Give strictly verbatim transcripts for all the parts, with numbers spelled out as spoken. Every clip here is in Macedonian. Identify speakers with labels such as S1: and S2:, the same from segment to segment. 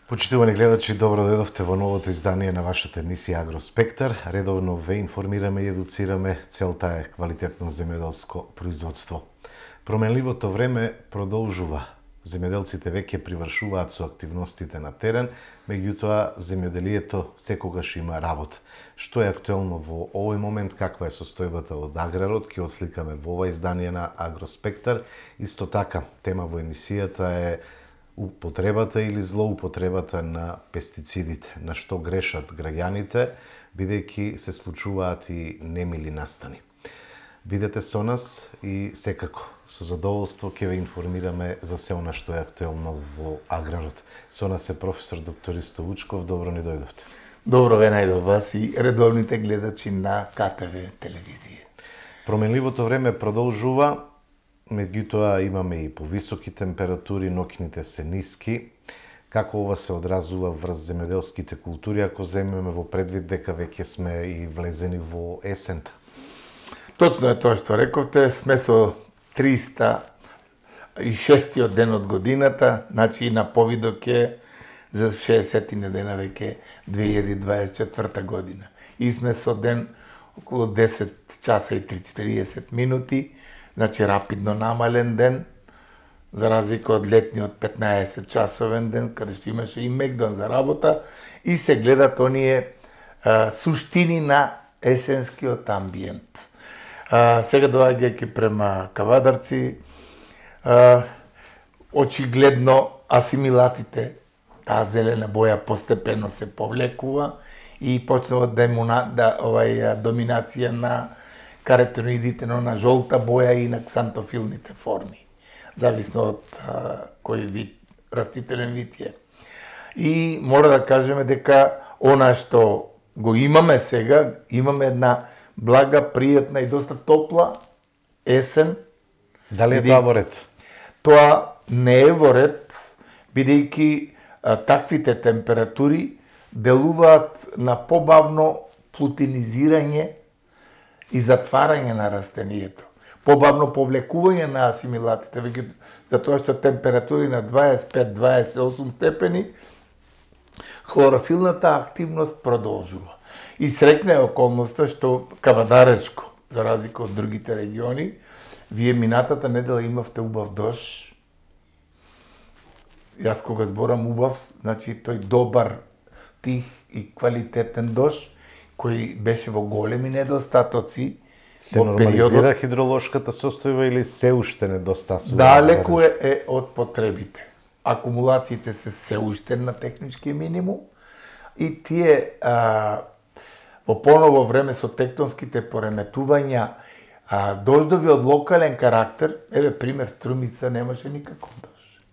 S1: Почитувани гледачи, добро дојдовте во новото издание на вашата емисија Агроспектар. Редовно ве информираме и едуцираме, целта е квалитетно земјоделско производство. Променливото време продолжува. Земјоделците веќе привршуваат со активностите на терен, меѓутоа земјоделието секогаш има работа. Што е актуелно во овој момент, каква е состојбата од аграрот, ќе отсликаме во ова издание на Агроспектар. Исто така, тема во емисијата е употребата или злоупотребата на пестицидите, на што грешат граѓаните, бидејќи се случуваат и немили настани. Бидете со нас и секако, со задоволство ќе ве информираме за се она што е актуелно во аграрот. Со нас е професор доктор Ристо Вучков, добро ни дојдовте.
S2: Добро ве најдов вас и редовните гледачи на К Т В телевизија.
S1: Променливото време продолжува, меѓутоа имаме и повисоки температури, ноќните се ниски. Како ова се одразува врз земјоделските култури, ако земеме во предвид дека веќе сме и влезени во есента?
S2: Точно е тоа што рековте, сме со триста и шестиот ден од годината, значи и на повидок е за шеесет дена веќе две илјади дваесет и четврта година. И сме со ден околу десет часа и триесет минути, значи рапидно намален ден, за разлика од летниот петнаесет часовен ден, каде што имаше и мегдон за работа, и се гледат оние а, суштини на есенскиот амбиент. А, сега доаѓајќи према Кавадарци, а, очигледно асимилатите, таа зелена боја постепено се повлекува и почнува демона, да, овај, доминација на каротиноидите, но на жолта боја и на ксантофилните форми, зависно од а, кој вид, растителен вид е. И мора да кажеме дека она што го имаме сега, имаме една блага, пријатна и доста топла есен.
S1: Дали е тоа во ред?
S2: Тоа не е во ред, бидејќи таквите температури делуваат на побавно плутинизирање и затварање на растенијето. Побавно повлекување на асимилатите, веќе затоа што температури на дваесет и пет до дваесет и осум степени, хлорофилната активност продолжува. И срекна е околноста што Кавадаречко, за разлика од другите региони, вие минатата недела имавте убав дожд. Јас кога зборам убав, значи тој добар, тих и квалитетен дожд, кој беше во големи недостатоци.
S1: Се нормализира хидроложката состојба или се уште недостасува?
S2: Далеку е, е од потребите. Акумулациите се се уште на технички минимум и тие а, во поново време со тектонските пореметувања, а, дождови од локален карактер, еве пример Струмица немаше никаков дожд.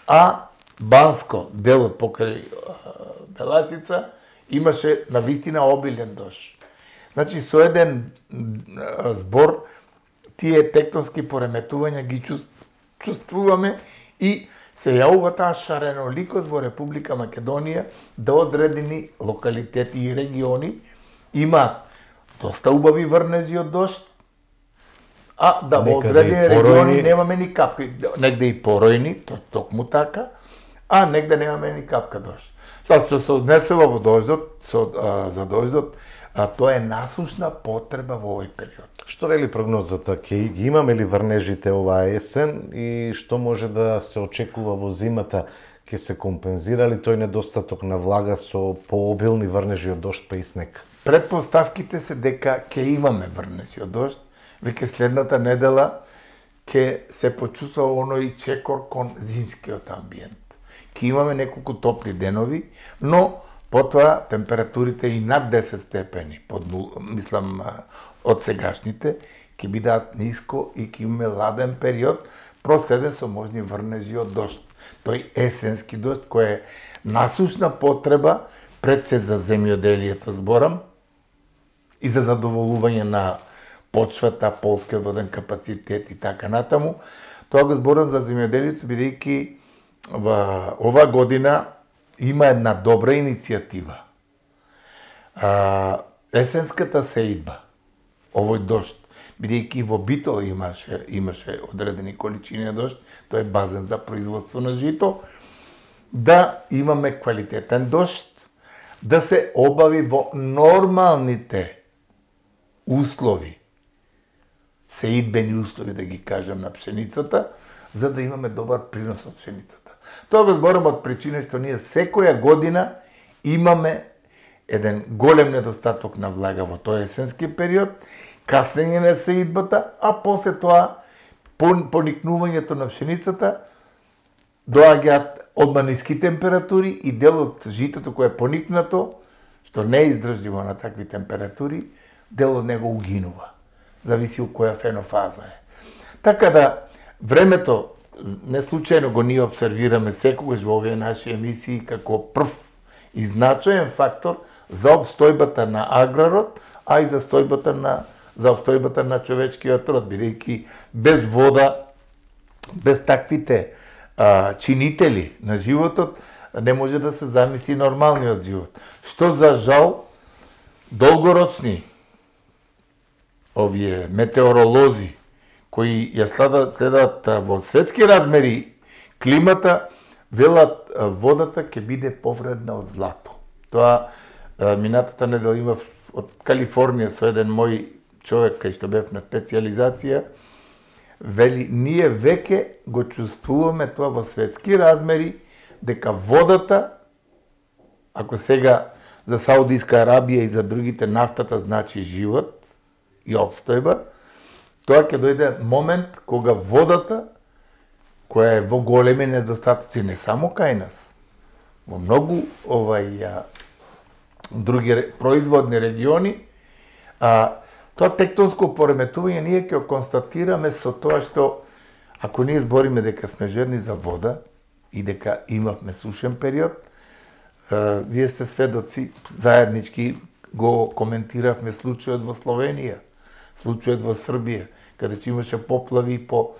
S2: А Банско, делот покрај Беласица, имаше навистина обилен дожд. Значи, со еден збор, тие тектонски пореметувања ги чувствуваме и се јавува таа шареноликост во Република Македонија да одредени локалитети и региони имаат доста убави врнези од дожд, а да во одредени региони немаме ни капка. Негде и поројни, то токму така, а негде немаме ни капка дожд. Тоа што се однесува во дождот, со, а, за дождот, а тоа е насушна потреба во овој период.
S1: Што вели прогнозата? Ќе ги имаме ли врнежите оваа есен и што може да се очекува во зимата? Ќе се компензира ли тој недостаток на влага со пообилни врнежи од дожд па и снег?
S2: Предпоставките се дека ќе имаме врнежи од дожд, веќе следната недела ќе се почувствува оној чекор кон зимскиот амбиент. Ќе имаме неколку топли денови, но потоа температурите и над десет степени, под нул, мислам од сегашните, ќе бидат ниско и ќе имаме ладен период, проследен со можни врнежи од дожд. Тој есенски дожд кој е насушна потреба пред се за земјоделието зборам и за задоволување на почвата, полскиот воден капацитет и така натаму. Тоа го зборам за земјоделието, бидејќи во ова година има една добра иницијатива. А, есенската сеидба, овој дожд, бидејќи во Битол имаше, имаше одредени количини дожд, тој е базен за производство на жито, да имаме квалитетен дожд, да се обави во нормалните услови, сеидбени услови, да ги кажам, на пшеницата, за да имаме добар принос од пшеницата. Тоа го зборам од причина што ние секоја година имаме еден голем недостаток на влага во тој есенски период, каснење на сеидбата, а после тоа поникнувањето на пшеницата доаѓаат одма ниски температури и дел од житото кое е поникнато, што не е издржливо на такви температури, дел од него угинува. Зависи од која фенофаза е. Така да, времето, не случајно го ние обсервираме секогаш во овие наши емисии како прв и значаен фактор за обстојбата на аграрот, а и за стојбата на за обстојбата на човечкиот род, бидејќи без вода, без таквите а, чинители на животот, не може да се замисли нормалниот живот. Што за жал долгорочни овие метеоролози кои ја следат, следат во светски размери климата, велат водата ќе биде повредна од злато. Тоа минатата недела имав од Калифорнија со еден мој човек кај што бев на специализација, вели, ние веќе го чувствуваме тоа во светски размери, дека водата, ако сега за Саудиска Арабија и за другите нафтата значи живот и обстојба, тоа ќе дојде момент кога водата, која е во големи недостатоци не само кај нас, во многу овај а, други производни региони, а, тоа тектонско пореметување ние ќе констатираме со тоа што ако ние збориме дека сме жедни за вода и дека имавме сушен период, а, вие сте сведоци, заеднички го коментиравме случајот во Словенија, случајот во Србија, каде че имаше поплави по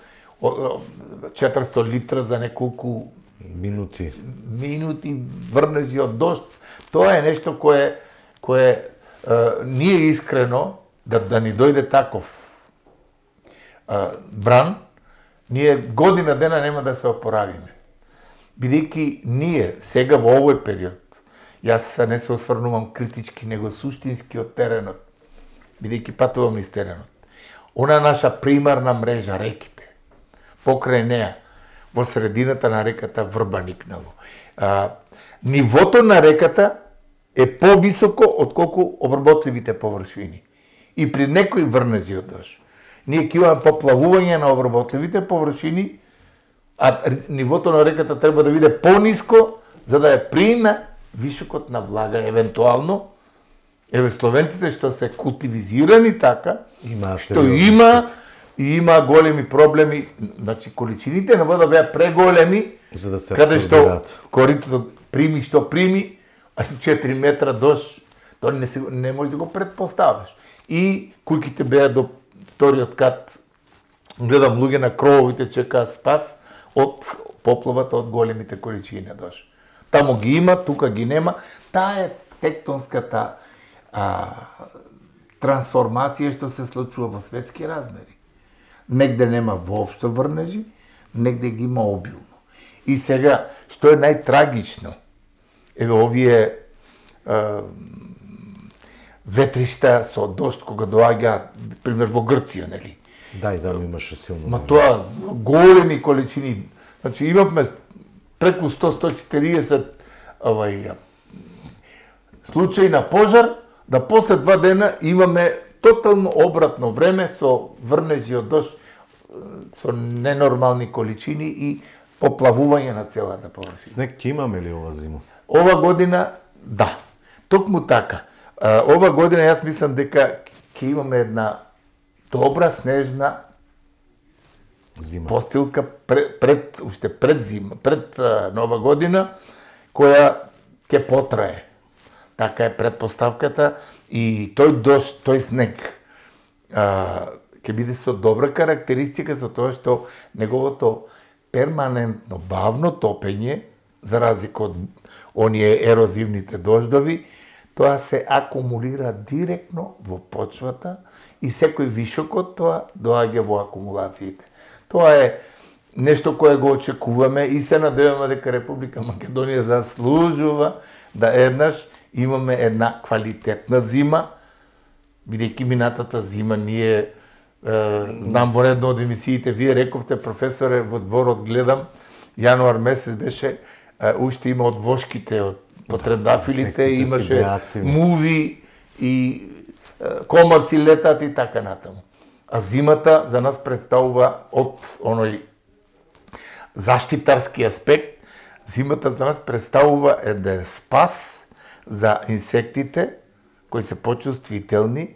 S2: четиристо литра за неколку
S1: минути.
S2: Минути врнежи од дожд. Тоа е нешто кое кое е, ние искрено да да ни дојде таков е, бран, ние година дена нема да се опоравиме. Бидејќи ние сега во овој период, јас не се осврнувам критички, него суштински од теренот, бидејќи патувам низ теренот. Она наша примарна мрежа, реките, покрај неа, во средината на реката Врбаникнало. А, нивото на реката е повисоко од колку обработливите површини. И при некои врнежи од дожд, ние ќе имаме поплавување на обработливите површини, а нивото на реката треба да биде пониско, за да ја приме високот на влага, евентуално. Еве словенците што се култивизирани така,
S1: има
S2: што има и има големи проблеми, значи количините на вода беа преголеми,
S1: за да се
S2: каде што коритото прими што прими, а четири метра дожд, тоа не, се, не може да го предпоставиш. И куќите беа до вториот кат, гледам луѓе на крововите чекаа спас од поплавата од големите количини дожд. Таму ги има, тука ги нема. Таа е тектонската а, трансформација што се случува во светски размери. Негде нема воопшто врнежи, негде ги има обилно. И сега, што е најтрагично, еве овие а, ветришта со дожд кога доаѓа, пример во Грција, нели?
S1: Да, и да, имаше силно.
S2: Ма тоа големи количини, значи имавме преку сто до сто и четириесет овај случаи на пожар, да после два дена имаме тотално обратно време со врнежи од дожд, со ненормални количини и поплавување на целата површина.
S1: Снег ќе имаме ли ова зима?
S2: Ова година, да. Токму така. Ова година јас мислам дека ќе имаме една добра снежна
S1: зима.
S2: Постилка пред, пред уште пред зима, пред а, нова година, која ќе потрае. Така е предпоставката и тој дожд, тој снег а, ќе биде со добра карактеристика за тоа што неговото перманентно бавно топење, за разлика од оние ерозивните дождови, тоа се акумулира директно во почвата и секој вишок од тоа доаѓа во акумулациите. Тоа е нешто кое го очекуваме и се надеваме дека Република Македонија заслужува да еднаш имаме една квалитетна зима, бидејќи минатата зима ние е, знам во едно од емисиите, вие рековте, професоре, во дворот гледам, јануар месец беше, е, уште има од вошките, од потрендафилите, имаше муви и е, комарци летат и така натаму. А зимата за нас представува од оној заштитарски аспект, зимата за нас представува еден спас за инсектите, кои се почувствителни,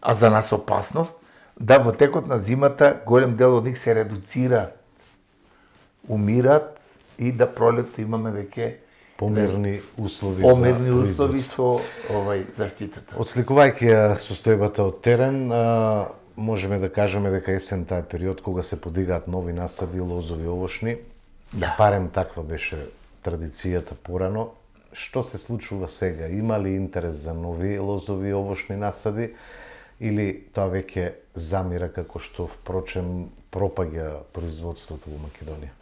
S2: а за нас опасност, да во текот на зимата голем дел од нив се редуцираат, умират и да пролетто имаме веќе
S1: померни услови
S2: померни
S1: за
S2: услови со овај заштитата.
S1: Отсликувајќи ја состојбата од терен, а, можеме да кажеме дека есента е период кога се подигаат нови насади, лозови, овошни.
S2: Да.
S1: Барем таква беше традицијата порано. Што се случува сега? Има ли интерес за нови лозови, овошни насади или тоа веќе замира како што впрочем пропаѓа производството во Македонија?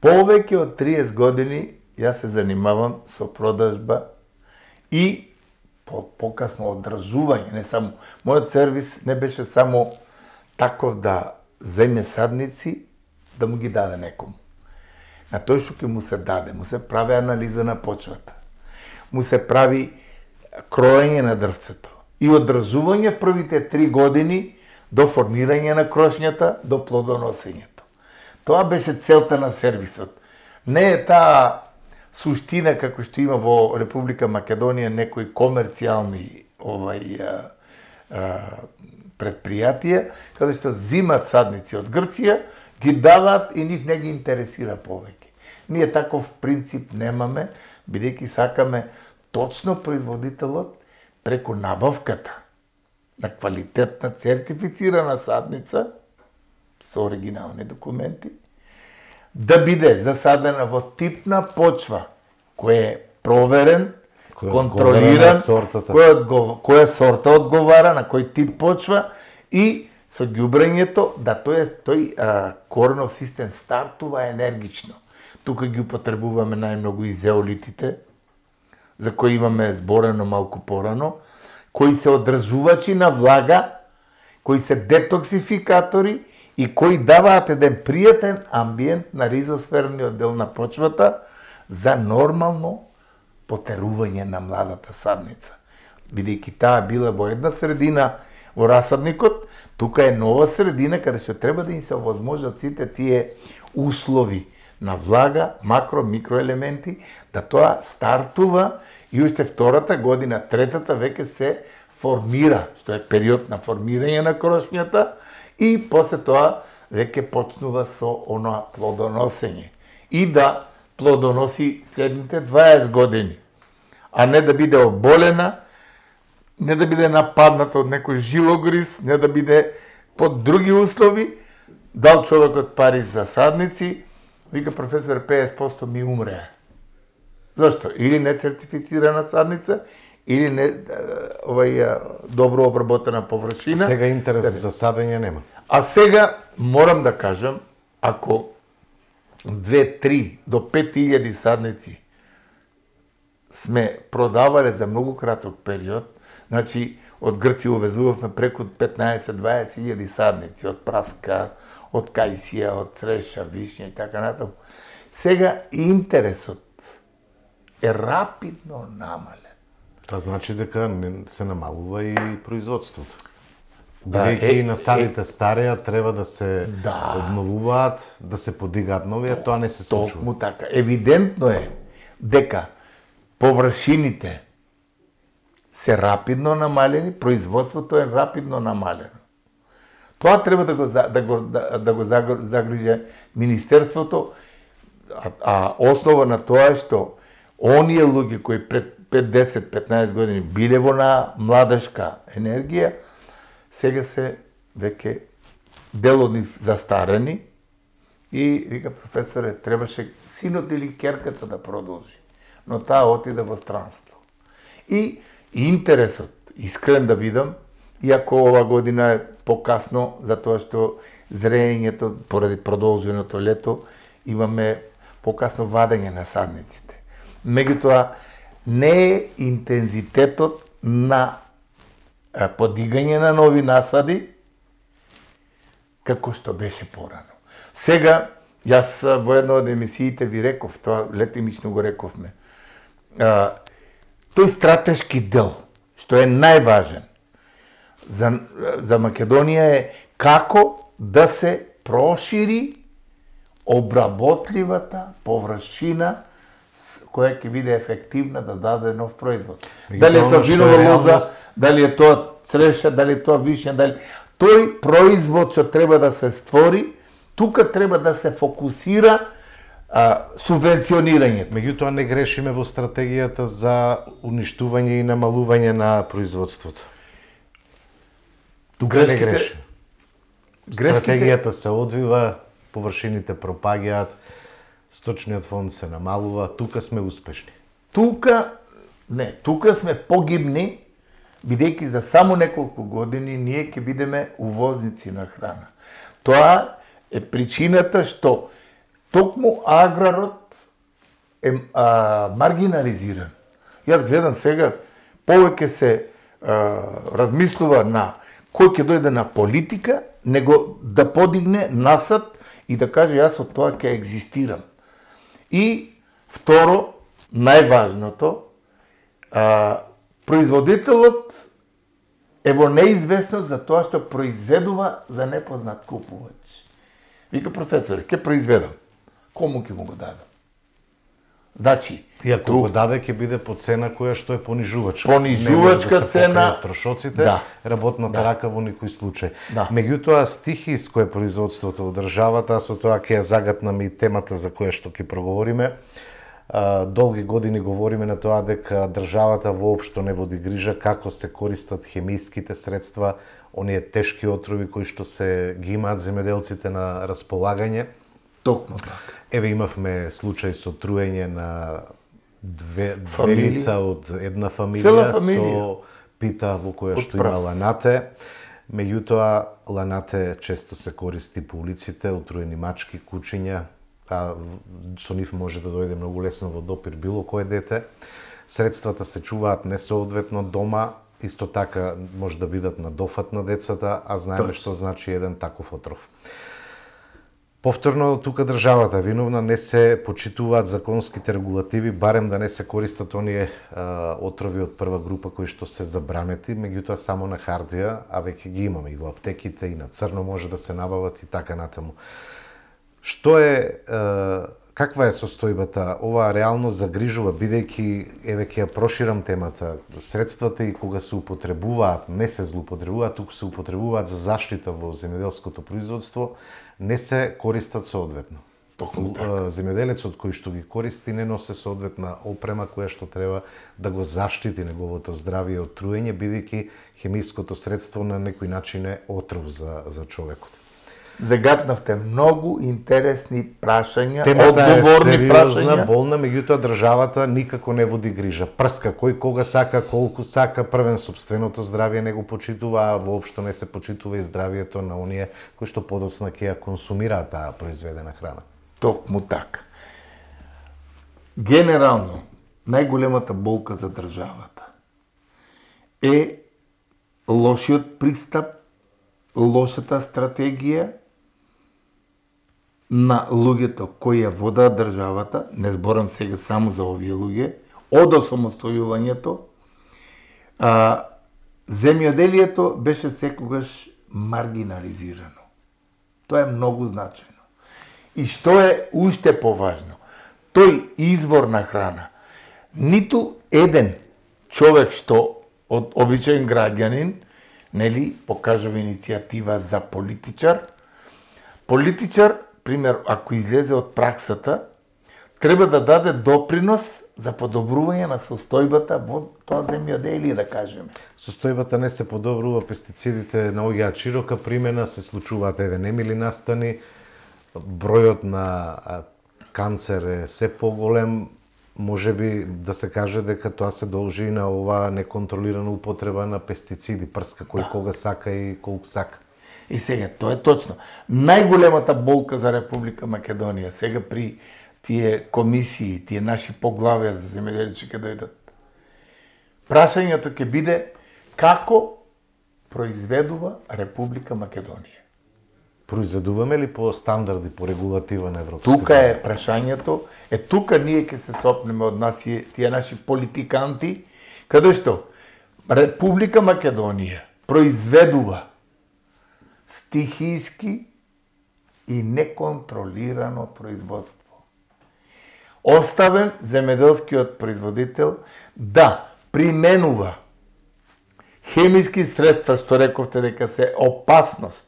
S2: Повеќе од триесет години јас се занимавам со продажба и по, покасно одржување, не само мојот сервис не беше само таков да земе садници да му ги даде некому. На тој што ќе му се даде, му се прави анализа на почвата, му се прави кроење на дрвцето и одржување в првите три години до формирање на крошњата, до плодоносењето. Тоа беше целта на сервисот. Не е таа суштина како што има во Република Македонија некои комерцијални овај а, а, предпријатија, каде што зимат садници од Грција, ги даваат и нив не ги интересира повеќе. Ние таков принцип немаме, бидејќи сакаме точно производителот преку набавката на квалитетна сертифицирана садница со оригинални документи, да биде засадена во типна почва, кој е проверен,
S1: Кој
S2: контролиран,
S1: кој
S2: одгов... која сорта одговара, на кој тип почва и со ѓубрењето да тој, тој а, коренов систем стартува енергично. Тука ги употребуваме најмногу и зеолитите, за кои имаме зборено малку порано, кои се одржувачи на влага, кои се детоксификатори и кои даваат еден пријатен амбиент на ризосферниот дел на почвата за нормално потерување на младата садница. Бидејќи таа била во една средина во расадникот, тука е нова средина каде што треба да им се овозможат сите тие услови на влага, макро, микроелементи, да тоа стартува и уште втората година, третата веќе се формира, што е период на формирање на крошњата и после тоа веќе почнува со оно плодоносење. И да плодоноси следните дваесет години, а не да биде оболена, не да биде нападната од некој жилогриз, не да биде под други услови, дал човекот пари за садници, вика професор петдесет проценти ми умреа. Зошто? Или не сертифицирана садница, или не овај добро обработена површина.
S1: Сега интерес за садење нема.
S2: А сега морам да кажам, ако две, три до пет илјади садници сме продавале за многу краток период, значи од Грција увезувавме преку петнаесет до дваесет илјади садници, од праска, од кајсија, од треша, вишња и така натаму. Сега интересот е рапидно намален.
S1: Тоа значи дека се намалува и производството.
S2: Да,
S1: Бидејќи
S2: е,
S1: и насадите
S2: е,
S1: стареа треба да се
S2: да.
S1: обновуваат, да се подигаат нови, а тоа не се случува.
S2: Токму така. Евидентно е дека површините се рапидно намалени, производството е рапидно намалено. Тоа треба да го, да го, да, да го загрижи Министерството, а, а основа на тоа е што оние луѓе кои пред пет, десет, петнаесет години биле во на младашка енергија, сега се веќе дел од нив застарени и, вика професоре, требаше синот или керката да продолжи, но таа отиде во странство. И интересот, искрен да бидам, иако ова година е покасно, затоа што зреењето, поради продолженото лето, имаме покасно вадење на садниците. Меѓутоа, не е интензитетот на подигање на нови насади, како што беше порано. Сега, јас во една од емисиите ви реков, тоа летимично го рековме, а, тој стратешки дел, што е најважен за, за Македонија е како да се прошири обработливата површина која ќе биде ефективна да даде нов производ. Дали е тоа винова лоза, дали е тоа цреша, дали е тоа вишња, дали тој производ што треба да се створи, тука треба да се фокусира а, субвенционирањето.
S1: Меѓутоа не грешиме во стратегијата за уништување и намалување на производството. Тука грешките, не греши. Грешките... Стратегијата се одвива, површините пропаѓаат, сточниот фонд се намалува, тука сме успешни.
S2: Тука, не, тука сме погибни, бидејќи за само неколку години ние ќе бидеме увозници на храна. Тоа е причината што токму аграрот е а, маргинализиран. Јас гледам сега, повеќе се а, размислува на кој ќе дојде на политика, него да подигне насад и да каже јас од тоа ќе екзистирам. И второ, најважното, а, производителот е во неизвестност за тоа што произведува за непознат купувач. Вика професор, ќе произведам. Кому ќе му го дадам? Значи,
S1: и ако друг... го даде ќе биде по цена која што е понижувачка.
S2: Понижувачка
S1: да
S2: цена,
S1: трошоците,
S2: да.
S1: Работната
S2: да.
S1: рака во никој случај.
S2: Да.
S1: Меѓутоа стихиско е производството во државата, а со тоа ќе ја загатнаме и темата за која што ќе проговориме. Долги години говориме на тоа дека државата воопшто не води грижа како се користат хемиските средства, оние тешки отрови кои што се ги имаат земјоделците на располагање.
S2: Токму така.
S1: Еве имавме случај со труење на две, две лица од една фамилија, фамилија со пита во која што има ланате. Меѓутоа, ланате често се користи по улиците, отруени мачки, кучиња, а со нив може да дојде многу лесно во допир било кое дете. Средствата се чуваат несоодветно дома, исто така може да бидат на дофат на децата, а знаеме Точно. Што значи еден таков отров. Повторно, тука државата виновна, не се почитуваат законските регулативи, барем да не се користат оние а, отрови од прва група кои што се забранети, меѓутоа само на хартија, а веќе ги имаме и во аптеките, и на црно може да се набават и така натаму. Што е, а, каква е состојбата? Ова реално загрижува, бидејќи, еве ќе ја проширам темата, средствата и кога се употребуваат, не се злоупотребуваат, туку се употребуваат за заштита во земјоделското производство, не се користат соодветно. Земјоделецот кој што ги користи не носи соодветна опрема која што треба да го заштити неговото здравје од труење, бидејќи хемиското средство на некој начин е отров за, за човекот.
S2: Загатнавте многу интересни прашања,
S1: темата
S2: одговорни
S1: е
S2: прашања.
S1: сериозна, болна, меѓутоа државата никако не води грижа. Прска кој кога сака, колку сака, првен сопственото здравје не го почитува, а воопшто не се почитува и здравјето на оние кои што подоцна ќе ја консумираат таа произведена храна.
S2: Токму така. Генерално, најголемата болка за државата е лошиот пристап, лошата стратегија на луѓето кои ја водат државата, не зборам сега само за овие луѓе, од осамостојувањето, а, земјоделието беше секогаш маргинализирано. Тоа е многу значајно. И што е уште поважно, тој извор на храна, ниту еден човек што од обичаен граѓанин, нели, покажува иницијатива за политичар, политичар, пример, ако излезе од праксата, треба да даде допринос за подобрување на состојбата во тоа земјоделие, да кажеме.
S1: Состојбата не се подобрува, пестицидите наоѓаат широка примена, се случуваат еве немили настани, бројот на канцер е се поголем, може би да се каже дека тоа се должи на ова неконтролирана употреба на пестициди, прска кој да. Кога сака и колку сака.
S2: И сега, тоа е точно. Најголемата болка за Република Македонија сега при тие комисии, тие наши поглавја за земјоделие ќе дојдат. Прашањето ќе биде како произведува Република Македонија.
S1: Произведуваме ли по стандарди, по регулатива на Европската?
S2: Тука е прашањето, е тука ние ќе се сопнеме од нас тие наши политиканти, каде што Република Македонија произведува стихиски и неконтролирано производство. Оставен земјоделскиот производител да применува хемиски средства, што рековте дека се опасност.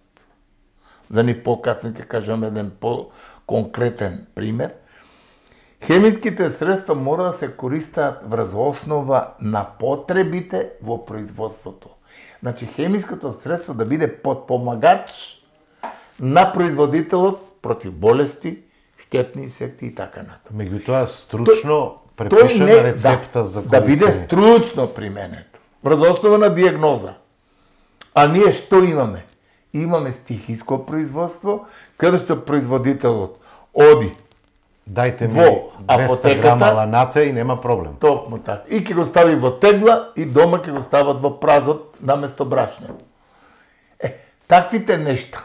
S2: За ни покасно ќе кажам еден по-конкретен пример. Хемиските средства мора да се користат врз основа на потребите во производството. Значи, хемиското средство да биде подпомагач на производителот против болести, штетни инсекти и така натаму.
S1: Меѓутоа, стручно препишана
S2: не,
S1: рецепта
S2: да,
S1: за користење.
S2: Да биде стручно применето, врз основа на диагноза. А ние што имаме? Имаме стихиско производство, каде што производителот оди
S1: Дајте ми
S2: во
S1: двеста грама ланата и нема проблем.
S2: Токму така. И ќе го стави во тегла и дома ќе го стават во празот наместо брашно. Е, таквите нешта.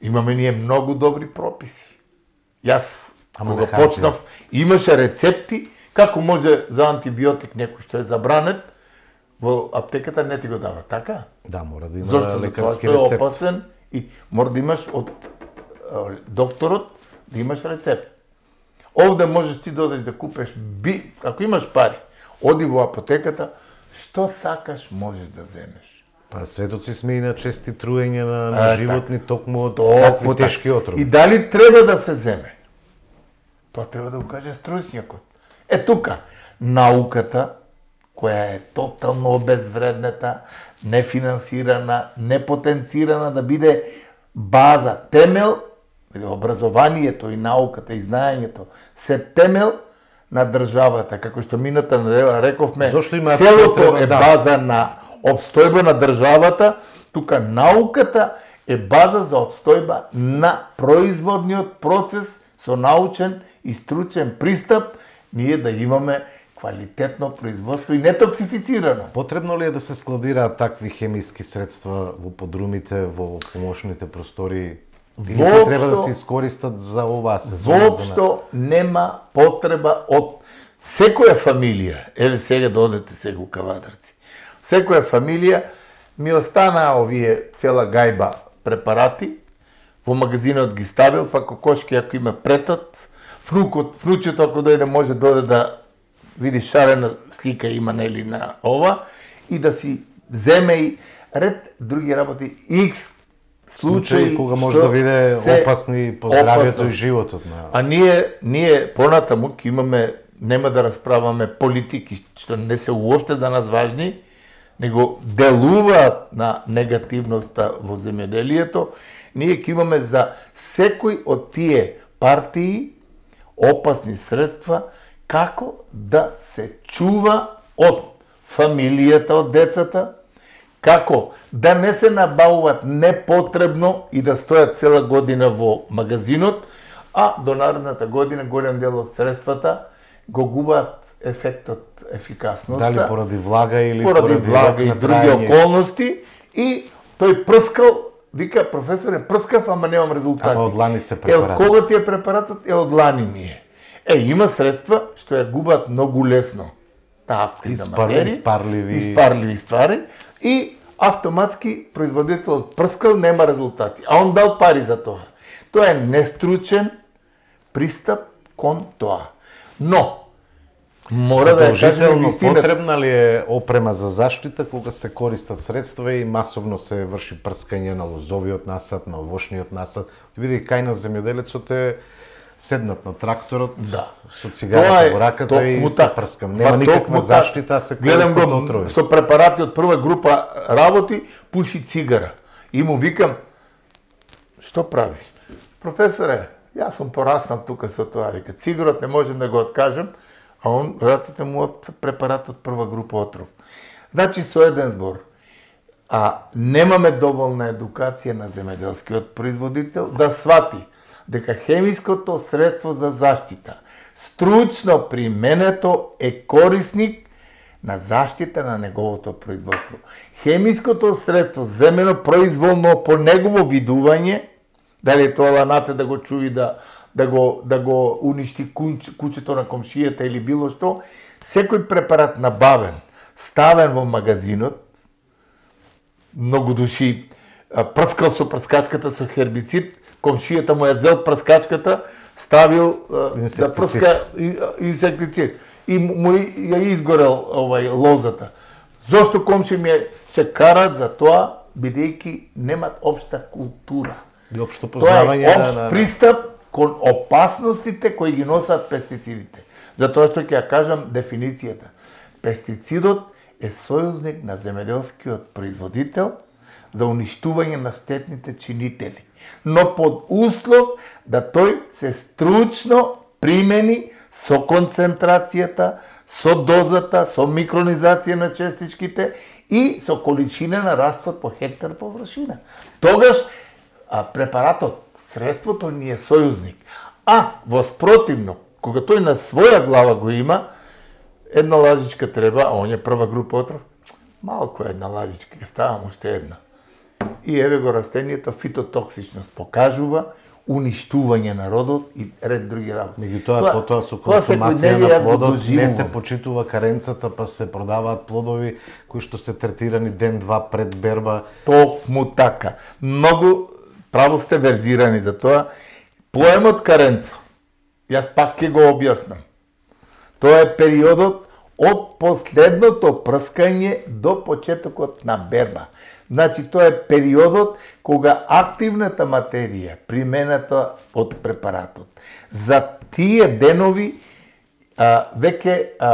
S2: Имаме ние многу добри прописи. Јас, кога почнав, имаше рецепти како може за антибиотик некој што е забранет, во аптеката не ти го дава, така?
S1: Да, мора да има
S2: Зошто?
S1: лекарски
S2: рецепт. Зошто?
S1: рецепт.
S2: Тоа е опасен и мора да имаш од докторот да имаш рецепт. Овде можеш ти да одеш да купеш би, ако имаш пари, оди во апотеката, што сакаш можеш да земеш.
S1: Па светоци сме и на чести труења на, на
S2: а,
S1: животни,
S2: так.
S1: токму од
S2: Токму
S1: такви
S2: так.
S1: тешки отрови.
S2: И дали треба да се земе? Тоа треба да го каже стручњакот. Е тука, науката, која е тотално обезвреднета, нефинансирана, непотенцирана да биде база, темел, образованието и науката и знаењето се темел на државата, како што мината недела рековме, селото потреба, е да. База на обстојба на државата, тука науката е база за обстојба на производниот процес со научен и стручен пристап, ние да имаме квалитетно производство и нетоксифицирано.
S1: Потребно ли е да се складираат такви хемиски средства во подрумите, во помошните простори? Или
S2: Воопшто,
S1: треба да се искористат за оваа сезона?
S2: Воопшто нема потреба од секоја фамилија. Еве сега да одете сега у Кавадарци. Секоја фамилија ми останаа овие цела гајба препарати, во магазинот ги ставил, па кокошки ако има претат, внукот, внучето ако дојде може да дојде да види шарена слика има нели на ова и да си земе и ред други работи X случаи
S1: кога може да биде опасни по здравјето и животот на.
S2: А ние ние понатаму ќе имаме, нема да расправаме политики што не се уопште за нас важни, него делуваат на негативноста во земјоделието. Ние ќе имаме за секој од тие партии опасни средства како да се чува од фамилијата, од децата, како да не се набавуваат непотребно и да стојат цела година во магазинот, а до наредната година голем дел од средствата го губаат ефектот, ефикасноста.
S1: Дали поради влага или
S2: поради,
S1: поради
S2: влага и други околности и тој прскал, вика професоре, прскав, ама немам резултати.
S1: Ама од лани се препарат.
S2: Е, од кога ти е препаратот? Е, од лани ми е. Е, има средства што ја губат многу лесно. Таа активна материја,
S1: испарливи...
S2: испарливи ствари и автоматски производителот прскал, нема резултати. А он дал пари за тоа. Тоа е нестручен пристап кон тоа. Но, мора да ја кажем вистина.
S1: Потребна ли е опрема за заштита кога се користат средства и масовно се врши прскање на лозовиот насад, на овошниот насад? Види кај на земјоделецот е седнат на тракторот,
S2: да.
S1: Со цигарата во раката и се прскам. Нема никаква заштита, а се
S2: гледам
S1: користат
S2: го
S1: отрови.
S2: Со препарати од прва група работи, пуши цигара. И му викам, што правиш? Професоре, јас сум пораснал тука со тоа, вика, цигарот не можем да го откажем, а он раците му од препарат од прва група отров. Значи, со еден збор, а немаме доволна едукација на земеделскиот производител да свати дека хемиското средство за заштита, стручно применето, е корисник на заштита на неговото производство. Хемиското средство земено произволно по негово видување, дали тоа ланате да го чуви да да го да го уништи куч, куќето на комшијата или било што, секој препарат набавен, ставен во магазинот, многу души прскал со прскачката со хербицид, комшијата му ја зел прскачката, ставил да прска инсектицид и му ја изгорел овај лозата. Зошто комши ми се карат за тоа, бидејќи немат општа култура.
S1: И општо познавање
S2: на општ пристап кон опасностите кои ги носат пестицидите. Затоа што ќе ја кажам дефиницијата. Пестицидот е сојузник на земеделскиот производител за уништување на штетните чинители, но под услов да тој се стручно примени со концентрацијата, со дозата, со микронизација на честичките и со количина на раствод по хектар површина. Тогаш а, препаратот, средството ни е сојузник. А воспротивно, кога тој на своја глава го има, една лажичка треба, а он е прва група отров, малку една лажичка, ќе ставам уште една. И еве го растението, фитотоксичност покажува уништување на родот и ред други работи.
S1: Меѓутоа, потоа со консумација на плодот не се почитува каренцата, па се продаваат плодови кои што се третирани ден-два пред берба.
S2: Токму така. Многу право сте верзирани за тоа. Поемот каренца, јас пак ќе го објаснам. Тоа е периодот од последното прскање до почетокот на берба. Значи, тоа е периодот кога активната материја, примената од препаратот, за тие денови а, веќе а,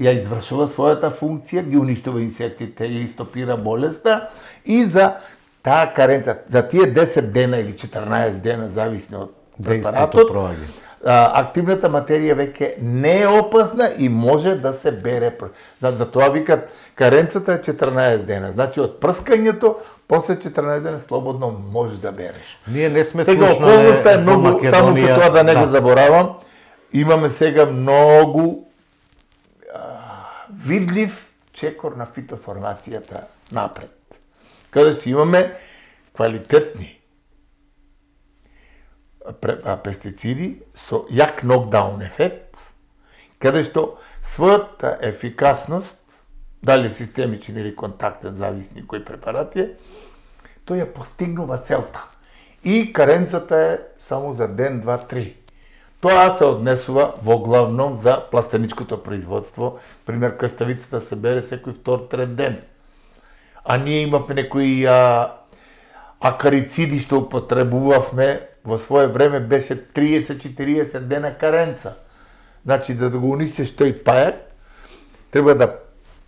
S2: ја извршува својата функција, ги уништува инсектите или стопира болеста, и за таа каренца, за тие десет дена или четрнаесет дена, зависно од препаратот, активната материја веќе не е опасна и може да се бере. За тоа викат каренцата е четрнаесет дена. Значи од прскањето после четрнаесет дена слободно можеш да береш.
S1: Ние не сме
S2: сега околноста е многу, само што тоа да не го заборавам, имаме сега многу а, видлив чекор на фитоформацијата напред. Каде што имаме квалитетни пестициди со јак нокдаун ефект, каде што својата ефикасност, дали системичен или контактен, зависни кој препарат е, тој ја постигнува целта. И каренцата е само за ден, два, три. Тоа се однесува во главном за пластеничкото производство. Пример, краставицата се бере секој втор, трет ден. А ние имавме некои а, акарициди што употребувавме. Во свое време беше триесет до четириесет дена каренца. Значи, да го уништиш тој пајак, треба да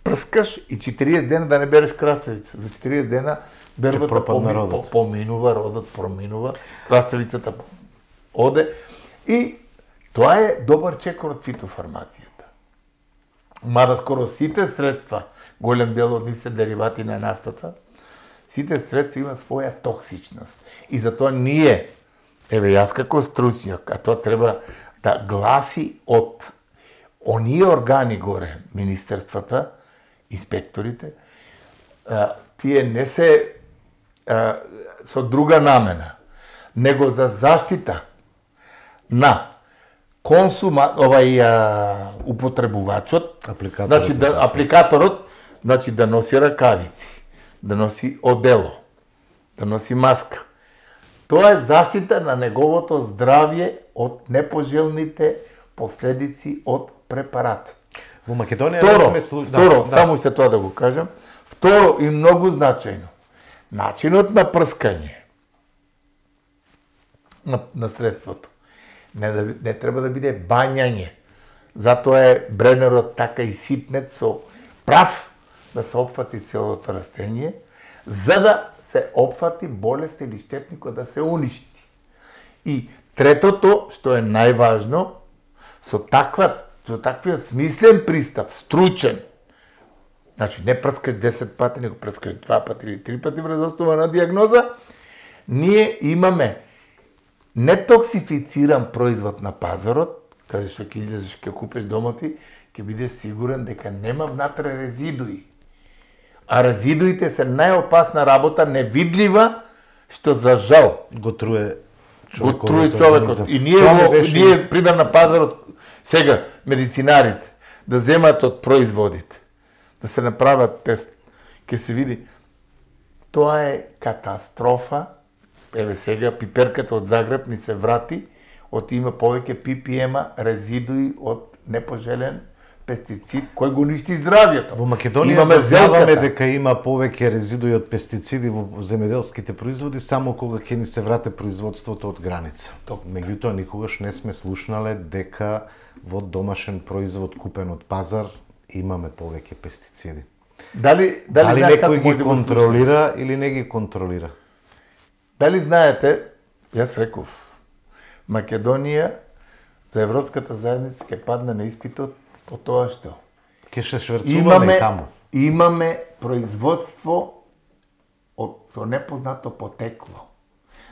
S2: прскаш и четириесет дена да не береш краставица. За четириесет дена бербата поми, по, поминува, родот проминува, краставицата оде. И тоа е добар чекор од фитофармацијата. Мада скоро сите средства, голем дел од нив се деривати на нафтата, сите средства имаат своја токсичност. И затоа ние, еве јас како стручњак, а тоа треба да гласи од оние органи горе, министерствата, инспекторите, тие не се а, со друга намена, него за заштита на консума, овај а, употребувачот,
S1: апликаторот,
S2: значи да, апликаторот, значи да носи ракавици, да носи одело, да носи маска. Тоа е заштита на неговото здравје од непожелните последици од препаратот.
S1: Во Македонија
S2: второ,
S1: не сме слушали.
S2: Второ,
S1: да,
S2: само уште тоа да го кажам. Второ и многу значајно. Начинот на прскање на, на средството не, да, не треба да биде бањање. Затоа е бренерот така и ситнет со прав да се опфати целото растение, за да се опфати болест или штетникот да се уништи. И третото, што е најважно, со таква Што таквиот смислен пристап, стручен, значи не прскаш десет пати, него прскаш два пати или три пати врз основа на диагноза, ние имаме нетоксифициран производ на пазарот, каде што ќе излезеш, ќе купиш дома ти, ќе биде сигурен дека нема внатре резидуи. А резидуите се најопасна работа, невидлива, што за жал
S1: го труе
S2: човекот. Го труе човекот. И ние, го, беше... ние пример на пазарот, сега, медицинарите, да земат од производите, да се направат тест, ќе се види, тоа е катастрофа. Еве сега, пиперката од Загреб ни се врати, од има повеќе пи пи ем-а резидуи од непожелен пестицид кој го ништи здравјето.
S1: Во Македонија дознаваме дека има повеќе резидуи од пестициди во земјоделските производи само кога ќе ни се врате производството од граница. Меѓутоа никогаш не сме слушнале дека во домашен производ купен од пазар имаме повеќе пестициди.
S2: Дали
S1: дали, дали некој ги контролира или не ги контролира?
S2: Дали знаете, јас реков, Македонија за Европската заедница ќе падне на испитот по тоа што
S1: ќе се шверцуваме таму.
S2: Имаме производство од со непознато потекло.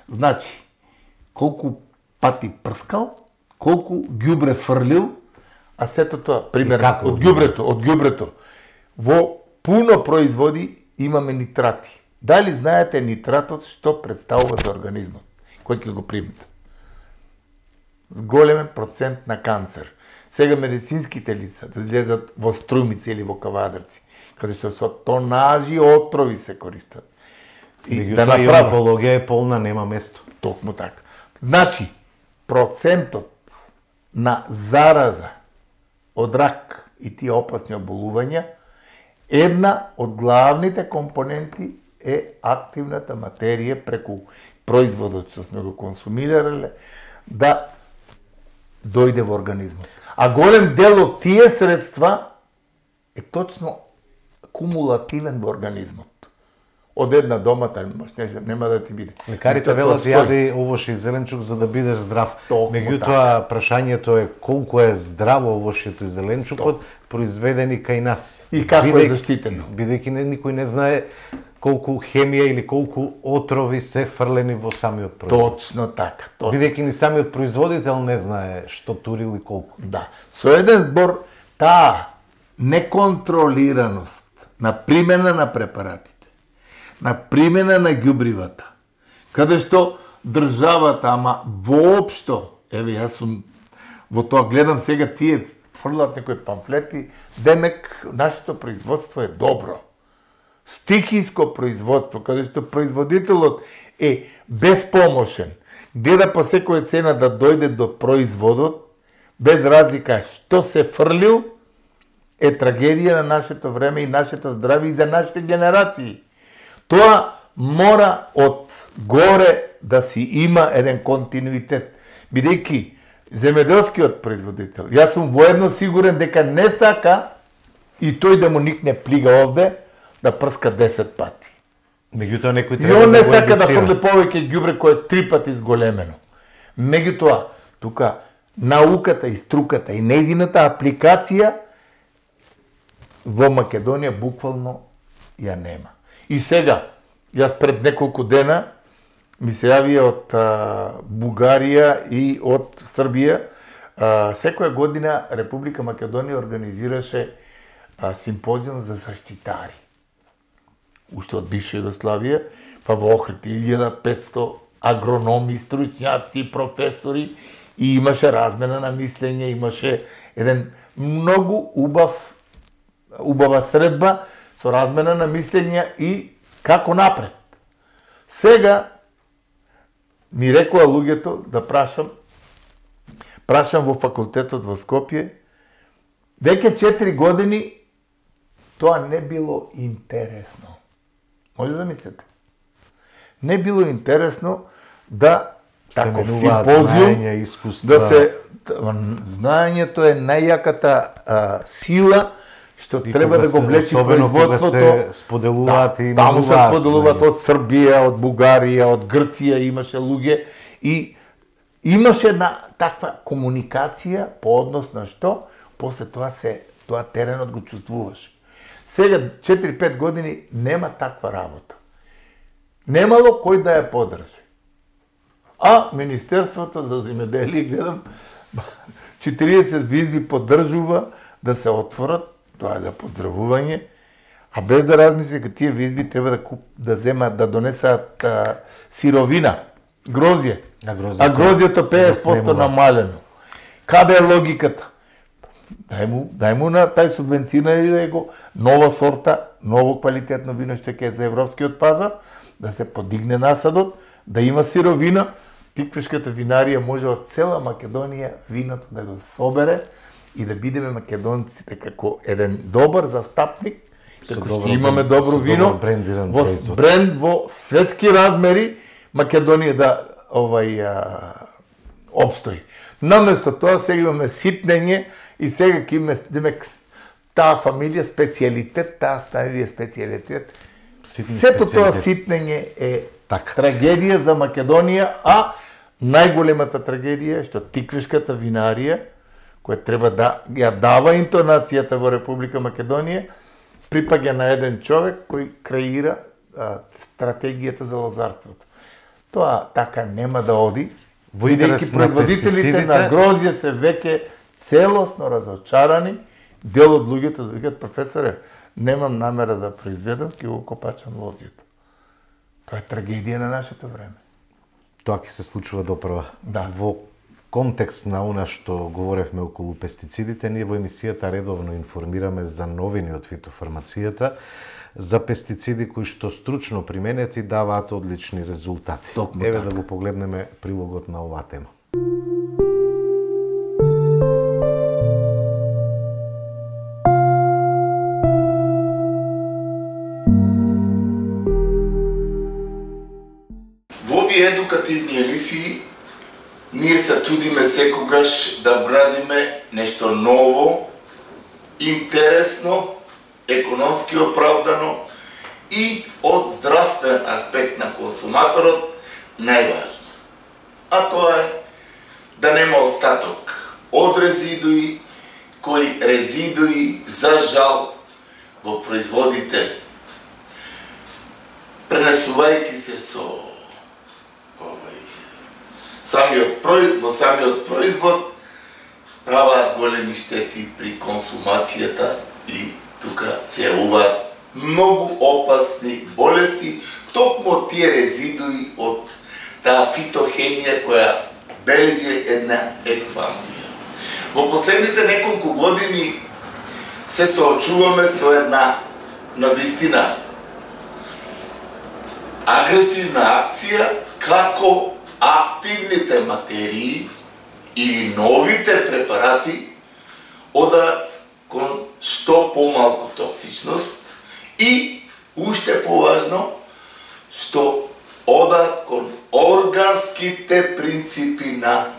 S2: Значи, колку пати прскал, колку ѓубре фрлил, а сето тоа, пример, од ѓубрето, од ѓубрето, во пуно производи имаме нитрати. Дали знаете нитратот што представува за организмот, кој ќе го примете? С големен процент на канцер. Сега медицинските лица да излезат во Струјмици или во Кавадарци, каде што со тонажи отрови се користат.
S1: И Меѓу да направа онкологија е полна, нема место.
S2: Токму така. Значи, процентот на зараза од рак и тие опасни оболувања, една од главните компоненти е активната материја преку производот што сме го консумирале, да дојде во организмот. А голем дел од тие средства е точно кумулативен во организмот. Од една домата нема да ти биде.
S1: Лекарите велат јади овош и зеленчук за да бидеш здрав. Меѓутоа прашањето е колку е здраво овошјето и зеленчукот произведени кај нас.
S2: И како е заштитено.
S1: Бидејќи никој не знае колку хемија или колку отрови се фрлени во самиот производ.
S2: Точно така.
S1: Бидејќи ни самиот производител не знае што турил и колку.
S2: Да. Со еден збор, таа неконтролираност на примена на препаратите, на примена на ѓубривата, каде што државата, ама воопшто, еве јас сум во тоа гледам сега тие фрлат некои памфлети, демек нашето производство е добро. Стихиско производство, каде што производителот е беспомошен, гледа по секоја цена да дојде до производот, без разлика што се фрлил, е трагедија на нашето време и нашето здравје и за нашите генерации. Тоа мора од горе да си има еден континуитет, бидејќи земјоделскиот производител, јас сум воедно сигурен дека не сака и тој да му никне плига овде, да прска десет пати.
S1: Меѓутоа некој
S2: треба да го едуцира. И он не сака да фрли повеќе ѓубре кој е три пати зголемено. Меѓутоа, тука науката и струката и нејзината апликација во Македонија буквално ја нема. И сега, јас пред неколку дена ми се јавија од а, Бугарија и од Србија. А, секоја година Република Македонија организираше а, симпозиум за заштитари. Уште од бивша Југославија, па во Охрид илјада и петсто агрономи, стручњаци, професори и имаше размена на мислење, имаше еден многу убав убава средба со размена на мислења и како напред. Сега ми рекоа луѓето да прашам, прашам во факултетот во Скопје, веќе четири години тоа не било интересно. Може да мислите? Не било интересно да таков симпозиум, да се знаењето е најјаката а, сила што и треба да го влечи производството.
S1: Се споделуваат да, и
S2: таму се споделуваат од Србија, од Бугарија, од Грција имаше луѓе и имаше една таква комуникација по однос на што? после тоа се тоа теренот го чувствуваше. Сега четири-пет години нема таква работа. Немало кој да ја подржи. А Министерството за земјоделие, гледам, четириесет визби поддржува да се отворат, тоа е за поздравување, а без да размисли дека тие визби треба да куп, да земат, да донесат а, сировина, грозје.
S1: А грозјето,
S2: а грозјето петдесет проценти намалено. Каде е логиката? Дај му, дај му на тај субвенција го нова сорта, ново квалитетно вино што ќе е за европскиот пазар, да се подигне насадот, да има сировина. Тиквешката винарија може од цела Македонија виното да го собере и да бидеме македонците како еден добар застапник, како што имаме добро вино, во бренд во светски размери, Македонија да овај а, обстои. Наместо тоа сега имаме ситнење и сега ќе имаме демек таа фамилија специјалитет, таа фамилија специјалитет. Сето тоа ситнење е
S1: так.
S2: Трагедија за Македонија, а најголемата трагедија е што тиквешката винарија, која треба да ја дава интонацијата во Република Македонија, припаѓа на еден човек кој креира а, стратегијата за лозарството. Тоа така нема да оди, бидејќи производителите на грозје се веќе целосно разочарани. Дел од луѓето да викат: професоре, немам намера да произведам, ќе го копачам лозјето. Тоа е трагедија на нашето време.
S1: Тоа ќе се случува допрва.
S2: Да.
S1: Во контекст на она што говоревме околу пестицидите, ние во емисијата редовно информираме за новини од фитофармацијата, за пестициди кои што стручно применети даваат одлични резултати.
S2: Токму
S1: Еве
S2: така.
S1: да го погледнеме прилогот на оваа тема.
S2: Во овие едукативни емисии ние се трудиме секогаш да брадиме нешто ново, интересно, економски оправдано и од здравствен аспект на консуматорот најважно. А тоа е да нема остаток од резидуи, кои резидуи, за жал, во производите, пренесувајќи се со овај, самиот прои, во самиот производ, праваат големи штети при консумацијата и тука се јавуваат многу опасни болести, токму од тие резидуи од таа фитохемија која бележи една експанзија. Во последните неколку години се соочуваме со една навистина агресивна акција како активните материи или новите препарати одат кон што помалку токсичност и уште поважно што одат кон органските принципи на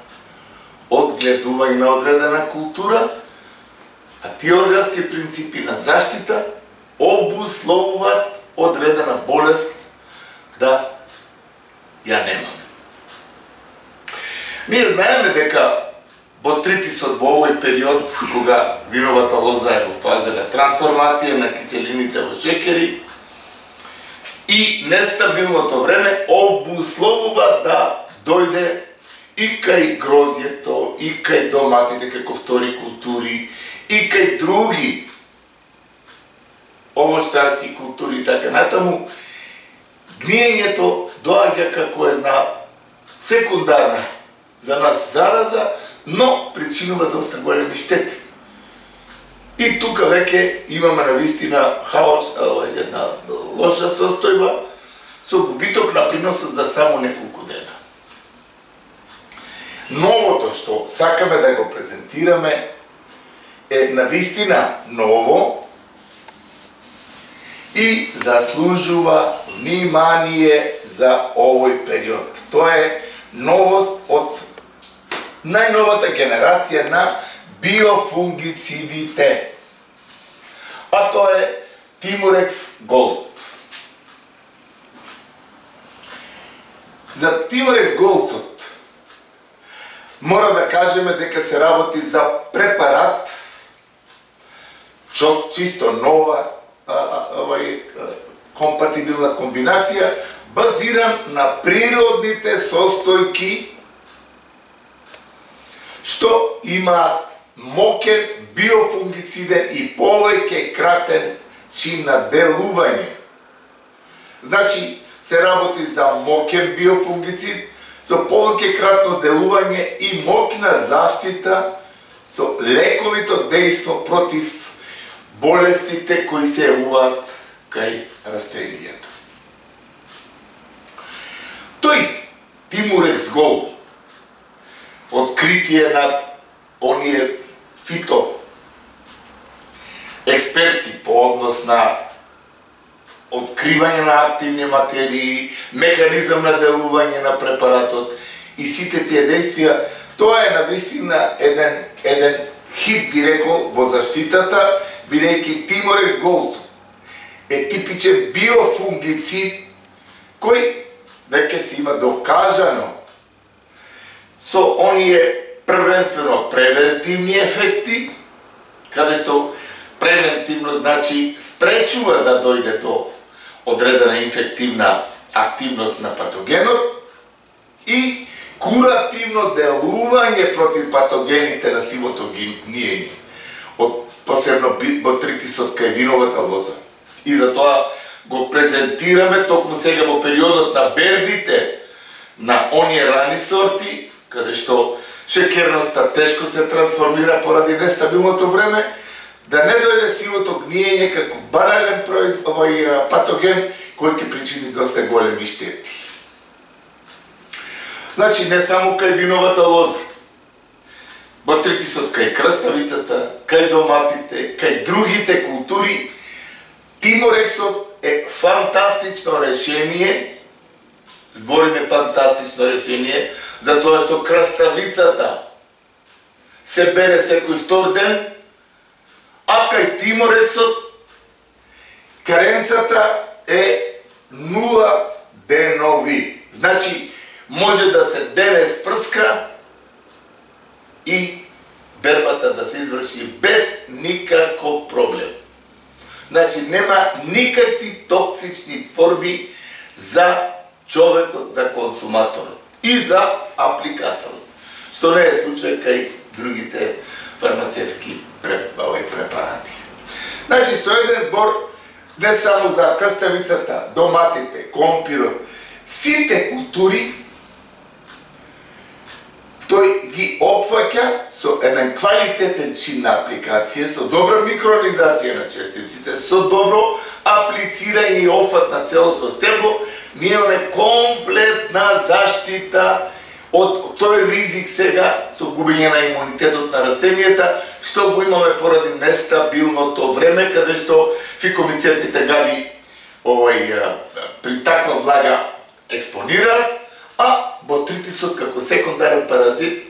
S2: одгледување на одредена култура, а тие органски принципи на заштита обусловуваат одредена болест да ја немаме. Ние знаеме дека ботритисот во овој период, кога виновата лоза е во фаза на трансформација на киселините во шекери и нестабилното време обусловува да дојде и кај грозјето, и кај доматите како втори култури, и кај други овоштарски култури и така натаму, гниењето доаѓа како една секундарна за нас зараза, но причинува доста големи штети. И тука веќе имаме навистина хаосна, една лоша состојба, со губиток на приносот за само неколку дена. Новото што сакаме да го презентираме е навистина ново и заслужува внимание за овој период. Тоа е новост од најновата генерација на биофунгицидите. А тоа е Тимурекс Голд. За Тимурекс Голдот мора да кажеме дека се работи за препарат чисто нова овај компатибилна комбинација, базиран на природните состојки што има мокен биофунгициден и повеќе кратен чин на делување. Значи, се работи за мокен биофунгицид со повеќе кратно делување и моќна заштита со лековито дејство против болестите кои се јавуваат кај растенијата. Тој Тимурекс Голд, откритие на оние фито експерти по однос на откривање на активни материи, механизам на делување на препаратот и сите тие действија, тоа е навистина еден, еден хит, би рекол, во заштитата, бидејќи Тимурекс Голд е типичен биофунгицид кој веќе си има докажано со оние првенствено превентивни ефекти, каде што превентивно значи спречува да дојде до одредена инфективна активност на патогенот и куративно делување против патогените на сивото гниење, од посебно ботритисот кај виновата лоза. И затоа го презентираме токму сега во периодот на бербите на оние рани сорти, каде што шекерноста тешко се трансформира поради нестабилното време, да не дојде сивото гниење како банален овој патоген кој ќе причини доста големи штети. Значи, не само кај виновата лоза, ботритисот кај краставицата, кај доматите, кај другите култури, Тимурексот е фантастично решение, збориме фантастично решение, затоа што краставицата се бере секој втор ден, а кај Тимурексот каренцата е нула денови. Значи, може да се дене спрска и бербата да се изврши без никаков проблем. Значи, нема никакви токсични творби за човекот, за консуматорот и за апликаторот, што не е случај кај другите фармацевски препарати. Значи, со еден збор, не само за краставицата, доматите, компирот, сите култури, тој ги опфаќа со еден квалитетен чин на апликација, со добра микронизација на честиците, со добро аплицирање и опфат на целото стебло, ние имаме комплетна заштита од тој ризик сега со губење на имунитетот на растенијата, што го имаме поради нестабилното време, каде што фикомицетните габи овој при таква влага експонираат, а ботритисот како секундарен паразит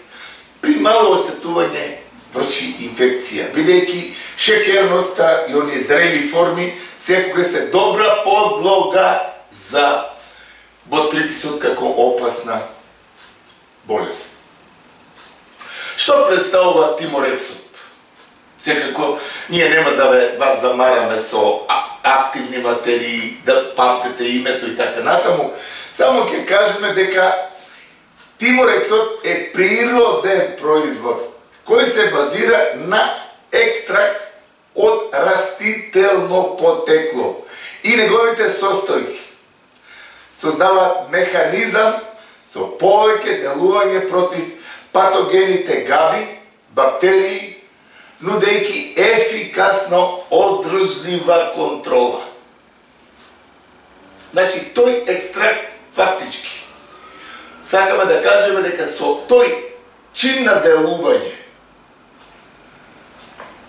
S2: при мало оштетување врши инфекција, бидејќи шекерноста и оние зрели форми секогаш се добра подлога за ботритисот како опасна болест. Што представува Тимурексот? Секако, ние нема да ве вас замараме со активни материи, да памтете името и така натаму, само ќе кажеме дека Тимурексот е природен производ, кој се базира на екстракт од растително потекло и неговите состојки создаваат механизам со повеќе делување против патогените габи, бактерии, нудејќи ефикасно одржлива контрола. Значи, тој екстракт фактички сакаме да кажеме дека со тој чин на делување,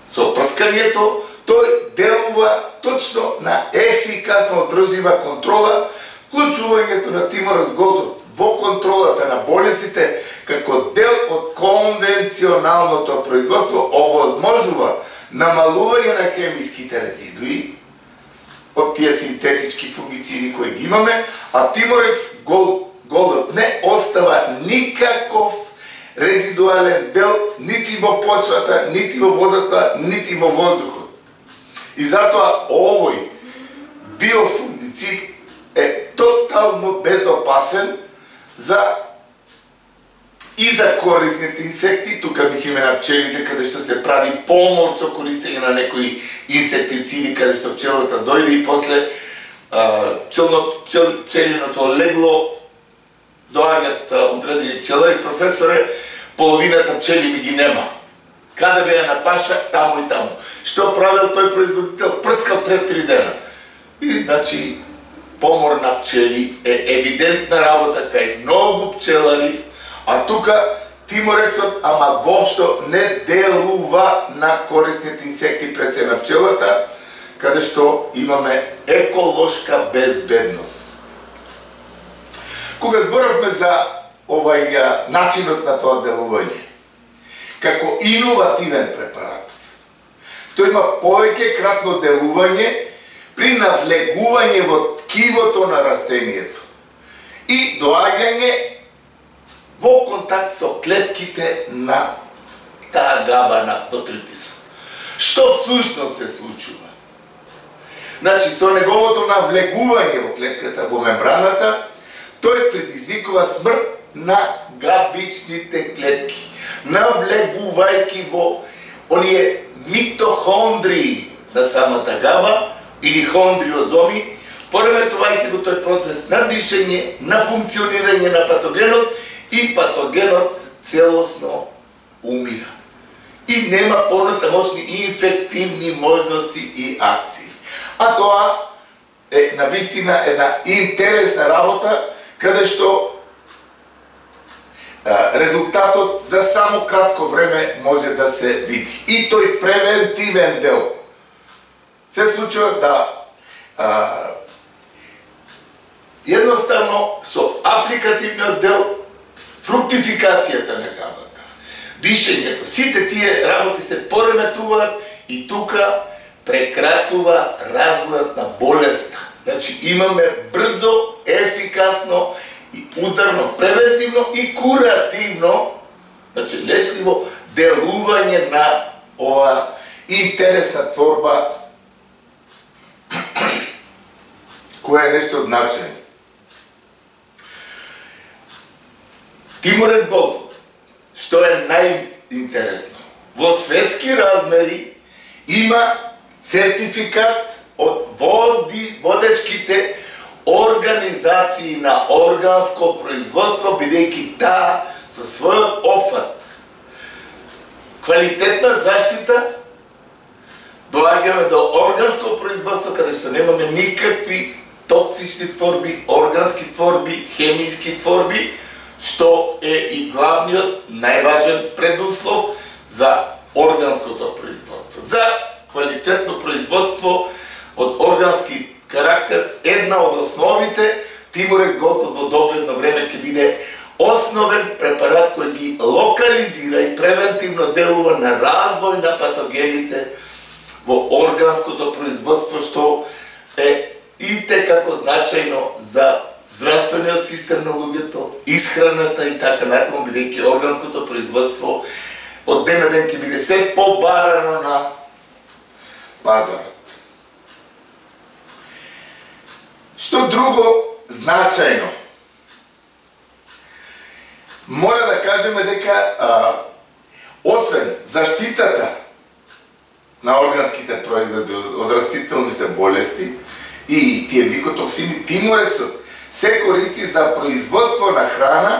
S2: со прскањето, тој делува точно на ефикасно одржлива контрола, вклучувањето на Тимурекс Голд во контролата на болестите како дел од конвенционалното производство овозможува намалување на хемиските резидуи од тие синтетички фунгициди кои ги имаме, а Тимурекс Голд не остава никаков резидуален дел нити во почвата, нити во водата, нити во воздухот. И затоа овој биофунгицид е тотално безопасен за и за корисните инсекти, тука мислиме на пчелите, каде што се прави помор со користење на некои инсектициди, каде што пчелата дојде и после пчелно, пчел, пчелиното легло доаѓаат одредени пчелари, професоре, половината пчели ми ги нема. Каде беа на паша, таму и таму. Што правил тој производител? Прскал пред три дена. И, значи, помор на пчели е евидентна работа кај многу пчелари, а тука Тиморексот, ама воопшто не делува на корисните инсекти пред се на пчелата, каде што имаме еколошка безбедност. Кога зборавме за овај начинот на тоа делување, како иновативен препарат, тој има повеќе кратно делување при навлегување во ткивото на растението и доаѓање во контакт со клетките на таа габа на ботритисот. Што всушност се случува? Значи, со неговото навлегување во клетката, во мембраната, тој предизвикува смрт на габичните клетки, навлегувајќи во оние митохондрии на самата габа или хондриозоми, пореметувајќи го тој процес на дишење, на функционирање на патогенот, и патогенот целосно умира. И нема понатамошни инфективни можности и акции. А тоа е навистина една интересна работа, каде што резултатот за само кратко време може да се види. И тој превентивен дел се случува да а, едноставно со апликативниот дел фруктификацијата на габата, дишењето, сите тие работи се пореметуваат и тука прекратува развојот на болеста. Значи имаме брзо, ефикасно и ударно, превентивно и куративно, значи лечливо делување на ова интересна творба која е нешто значајно. Тиморекс Голд, што е најинтересно, во светски размери има сертификат од води, водечките организации на органско производство, бидејќи таа со својот опфат квалитетна заштита доаѓаме до органско производство, каде што немаме никакви токсични творби, органски творби, хемиски творби, што е и главниот, најважен предуслов за органското производство. За квалитетно производство од органски карактер, една од основите, Тиморекс Голд во догледно време ќе биде основен препарат кој ги локализира и превентивно делува на развој на патогените во органското производство, што е и текако значајно за здравствениот систем на луѓето, исхраната и така натаму, бидејќи органското производство од ден на ден ќе биде се побарано на пазарот. Што друго значајно? Мора да кажеме дека а, освен заштитата на органските производи од растителните болести и тие микотоксини, Тиморексот се користи за производство на храна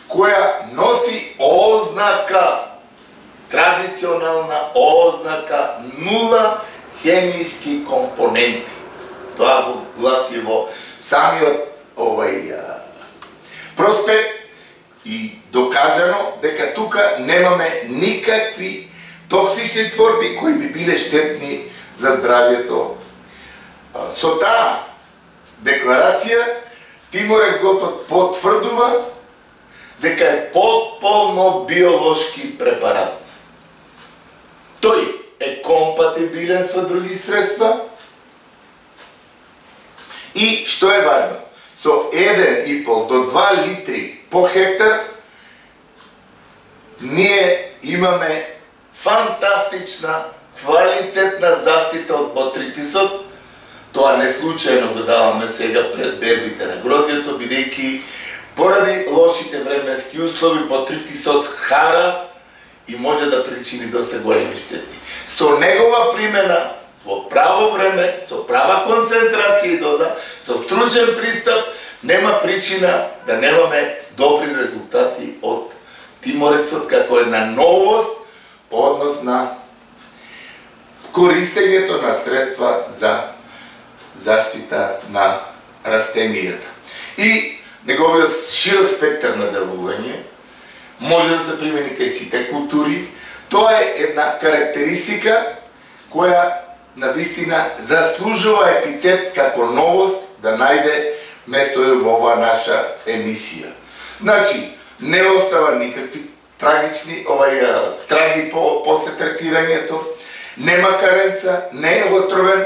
S2: која носи ознака, традиционална ознака нула хемиски компоненти. Тоа го гласи во самиот овај проспект и докажано дека тука немаме никакви токсични творби кои би биле штетни за здравјето. Со таа декларација Тиморекс Голд потврдува дека е потполно биолошки препарат. Тој е компатибилен со други средства и, што е важно, со еден и пол до два литри по хектар ние имаме фантастична, квалитетна заштита од Тоа не случајно го даваме сега пред бербите на грозјето, бидејќи поради лошите временски услови потритисот хара и може да причини доста големи штети. Со негова примена во право време, со права концентрација и доза, со стручен пристап, нема причина да немаме добри резултати од тиморецот како една новост по однос на користењето на средства за заштита на растенијата. И неговиот широк спектар на делување може да се примени кај сите култури. Тоа е една карактеристика која навистина заслужува епитет како новост да најде место во оваа наша емисија. Значи, не остава никакви трагични, овај траги по после третирањето, нема каренца, не е отровен,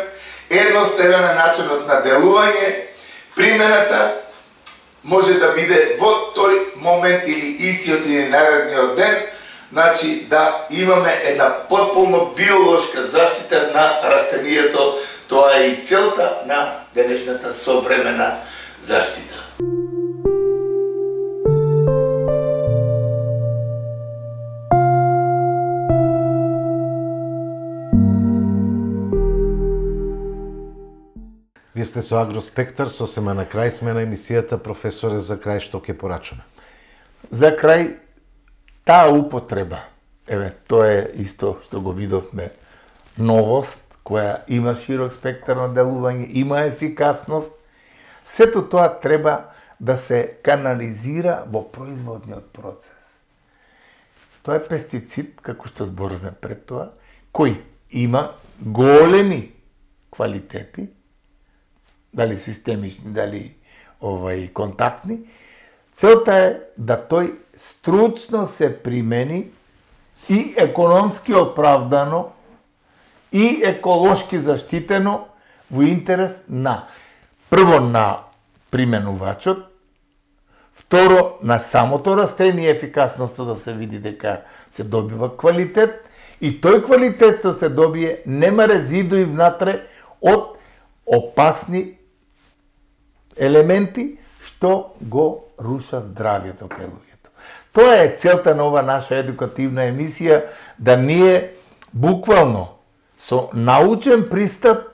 S2: едноставен е начинот на делување, примената може да биде во тој момент или истиот или наредниот ден, значи да имаме една потполно биолошка заштита на растенијето, тоа е и целта на денешната современа заштита.
S1: Вие сте со Агроспектар, сосема на крај сме на емисијата. Професоре, за крај што ќе порачаме?
S2: За крај, таа употреба, еве, тоа е исто што го видовме, новост, која има широк спектар на делување, има ефикасност, сето тоа треба да се канализира во производниот процес. Тоа е пестицид, како што зборуваме пред тоа, кој има големи квалитети, дали системични, дали овај контактни. Целта е да тој стручно се примени и економски оправдано и еколошки заштитено во интерес на прво на применувачот, второ на самото растение, ефикасноста да се види дека се добива квалитет и тој квалитет што се добие нема резидуи внатре од опасни елементи што го рушат здравјето кај луѓето. Тоа е целта на ова наша едукативна емисија, да ние буквално со научен пристап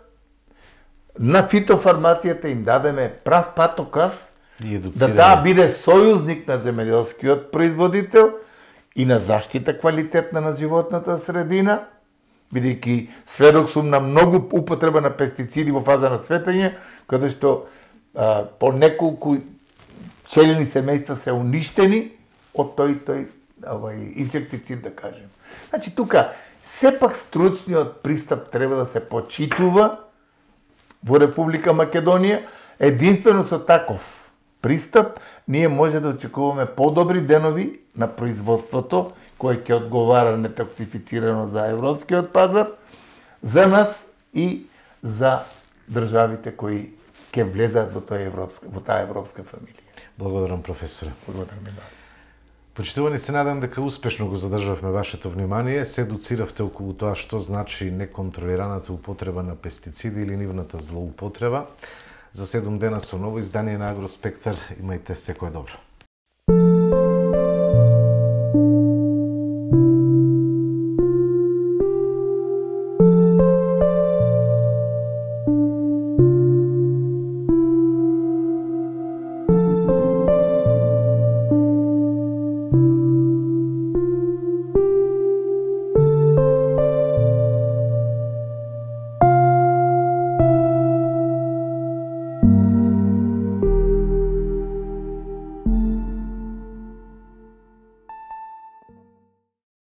S2: на фитофармацијата им дадеме прав патоказ да таа биде сојузник на земјоделскиот производител и на заштита квалитетна на животната средина, бидејќи сведок сум на многу употреба на пестициди во фаза на цветење, каде што а, по неколку пчелини семејства се уништени од тој тој овај инсектицид, да кажем. Значи тука сепак стручниот пристап треба да се почитува во Република Македонија. Единствено со таков пристап ние може да очекуваме подобри денови на производството, кој ќе одговара нетоксифицирано за европскиот пазар, за нас и за државите кои ќе влезат во таа европска, во таа европска фамилија.
S1: Благодарам, професоре.
S2: Благодарам и да.
S1: Почитувани, се надам дека успешно го задржавме вашето внимание, се едуциравте околу тоа што значи неконтролираната употреба на пестициди или нивната злоупотреба. За седум дена со ново издание на Агроспектар, имајте секое добро.